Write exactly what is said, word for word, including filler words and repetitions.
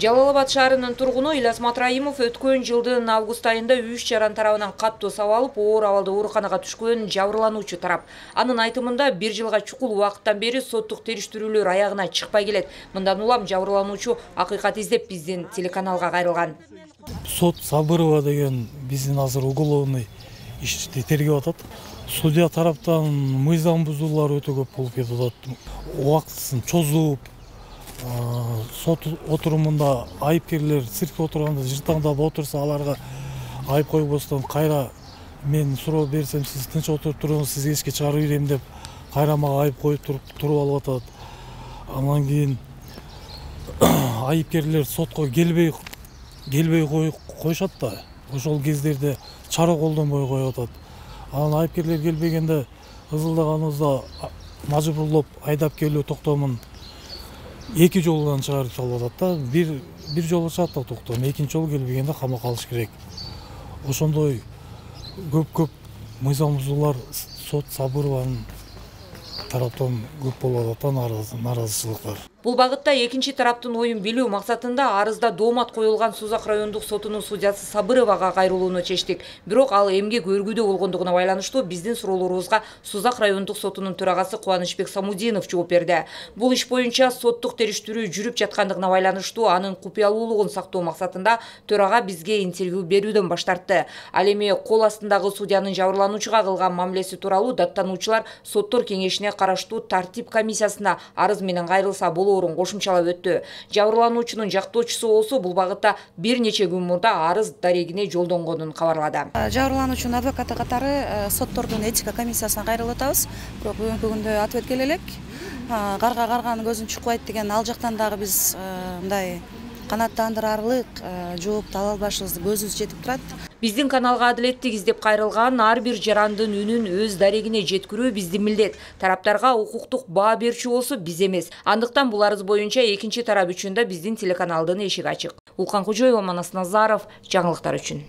Жалал Абад шаарынын тургуну Ильяс Матраимов өткөн жылдын август айында үч жаран тарабынан каттуу сабалып, оор абалда ооруканага түшкөн жабырлануучу тарап. Анын айтымында бир жылга чукул убакыттан бери соттук териштирүүлөр аягына чыкпай келет. Мындан улам жабырлануучу акыйкат издеп биздин телеканалга кайрылган. Сот Сабырова деген биздин азыр уголовный ишти тергеп атат. Судья тараптан мыйзам бузуулар өтө көп болуп кетип атат. Убактысын чозуп, сот отурумунда айыпкерлер циркте отурганда жыртаңдап отурса, аларга айып койбостон кайра мен суроо берсем, сиз тынч отуруп туруңуз, сизге эчке чыгарып берем деп кайра мага айып коюп туруп туруп алып атат. Андан кийин айыпкерлер сотко келбей келбей коюшат да. Ошол кездерде чара колдонбой коюп атат. Анан айыпкерлер келбегенде ызылдаганыбызда мажбурлоп айдап келүү токтомун эки жолдан чыгарып салып атат да. Бир бир жолу чыгат да токтом, экинчи жолу келбегенде камакка алыш керек. Ошондой көп-көп мыйзам бузуулар сот Сабырованын тараптан көп болуп атат, нааразычылыктар. Бул багытта экинчи тараптын оюн билүү максатында арызда доомат коюлган Сузак райондук сотунун судьясы Сабыровага кайрылууну чечтик. Бирок ал эмгек өргүдө болгондугуна байланыштуу биздин суроолорубузга Сузак райондук сотунун төрагасы Кубанычбек Самудинов жооп берди. Бул иш боюнча соттук териштирүү жүрүп жаткандыгына байланыштуу анын купуялуулугун сактоо максатында төрага бизге интервью берүүдөн баш тартты. Ал эми кол астындагы судьянын жабырлануучуга кылган мамилеси тууралуу даттануучулар соттор кеңешине караштуу тартип комиссиясына арыз менен кайрылса болот кошумчалап өттү. Жабырлануучунун жактоочусу болсо бул багытта бир нече күн мурда арыз дарегине жолдонгонун кабарлады. Жабырлануучунун адвокаты катары соттордун этика комиссиясына кайрылып атабыз. Бирок бүгүнкү күндө ответ келе элек. Карга карганын көзүн чукпайт деген ал жактан дагы биз мындай канааттандырарлык жоопту ала албашыбызды көзүбүз жетип турат. Биздин каналга адилеттик издеп кайрылган ар бир жарандын үнүн өз дарегине жеткирүү биздин милдет. Тараптарга укуктук баа берчү болсо биз эмес. Андыктан бул арыз боюнча экинчи тарап үчүн да биздин телеканалдын эшиги ачык. Улкан Кожоева, Манас Назаров, жаңылыктар үчүн.